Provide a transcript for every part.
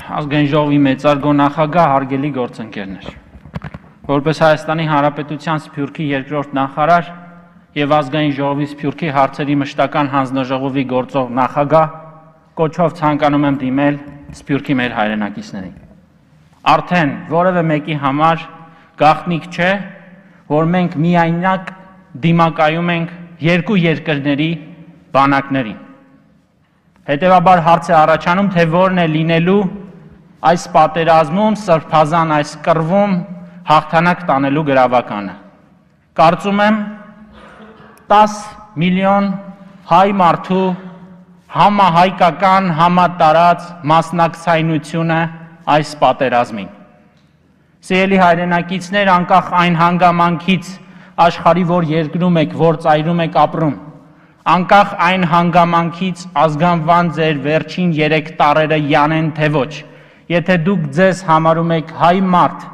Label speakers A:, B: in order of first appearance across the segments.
A: ազգային ժողովի մեծարգո նախագահ, հարգելի գործընկերներ։ Որպես Հայաստանի Հանրապետության Սփյուռքի երկրորդ նախարար եւ ազգային ժողովի Սփյուռքի հարցերի մշտական հանձնաժողովի գործող նախագահ, կոչով ցանկանում եմ դիմել Սփյուռքի մեր հայրենակիցներին։ Արդեն որևէ մեկի համար գաղտնիք չէ, որ մենք միայնակ դիմակայում ենք երկու երկրների բանակներին։ Հետևաբար հարց է առաջանում, թե որն է լինելու այս պատերազմում, սրբազան այս կռվում հաղթանակ տանելու գրավականը։ Կարծում եմ 10 միլիոն հայ մարդու համահայկական, համատարած մասնակցայնությունը այս պատերազմին։ Սիրելի հայրենակիցներ, անկախ այն հանգամանքից աշխարհի որ երկրում եք, որ ծայրում եք ապրում, անկախ այն հանգամանքից ազգանվան ձեր վերջին 3 տարերը յանեն թե ոչ, եթե դուք ձեզ համարում եք հայ մարդ,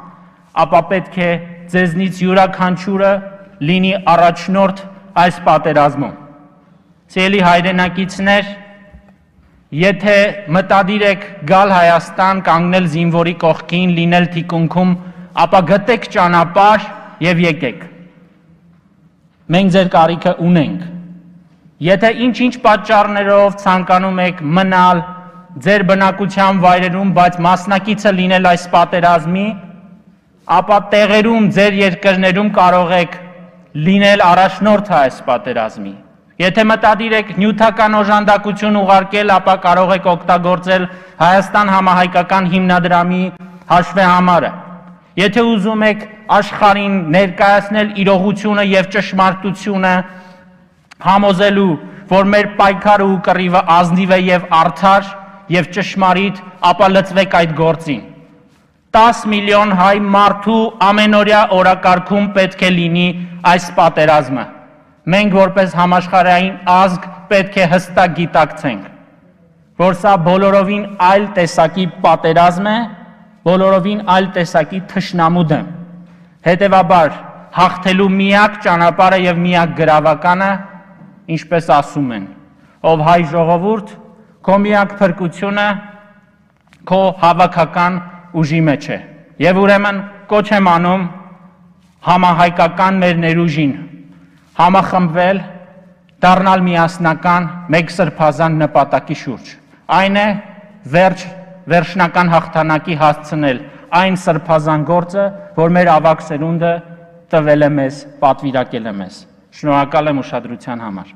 A: ապա պետք է ձեզնից յուրաքանչյուրը լինի առաջնորդ այս պատերազմում։ Սիրելի հայրենակիցներ, եթե մտադիր եք գալ Հայաստան, կանգնել զինվորի կողքին, լինել թիկունքում, ապա գտեք ճանապարհ եւ եկեք։ Մենք ձեր կարիքը ունենք։ Եթե ինչ-ինչ պատճառներով ցանկանում եք մնալ ձեր բնակության վայրերում, բայց մասնակիցը լինել այս պատերազմի, ապա տեղերում ձեր երկրներում կարող եք լինել առաջնորդը այս պատերազմի։ Եթե մտադիր եք նյութական օժանդակություն ուղարկել, ապա կարող եք օգտագործել Հայաստան համահայկական հիմնադրամի հաշվեհամարը։ Եթե ուզում եք աշխարհին ներկայացնել իրողությունը եւ ճշմարտությունը, համոզելու, որ մեր պայքարը ու կռիվը ազնիվ է եւ արդար եւ ճշմարիտ, ապա լծվեք այդ գործին։ 10 միլիոն հայ մարդու ամենօրյա օրակարգում պետք է լինի այս պատերազմը։ Մենք որպես համաշխարհային ազգ պետք է հստակ գիտակցենք, որ սա բոլորովին այլ տեսակի պատերազմ է, բոլորովին այլ տեսակի թշնամու դեմ։ Հետևաբար հաղթելու միակ ճանապարհը եւ միակ գրավականը, ինչպես ասում են, ով հայ ժողովուրդ, քո միակ փրկությունը քո հավաքական ուժի մեջ է։ Եվ ուրեմն կոչ եմ անում համահայկական մեր ներուժին համախմբվել, դառնալ միասնական մեկ սրբազան նպատակի շուրջ։ Այն է վերջնական հաղթանակի հասցնել այն սրբազան գործը, որ մեր ավագ սերունդը տվել է մեզ, պատվիրակել է մեզ։ Շնորհակալ եմ ուշադրության համար։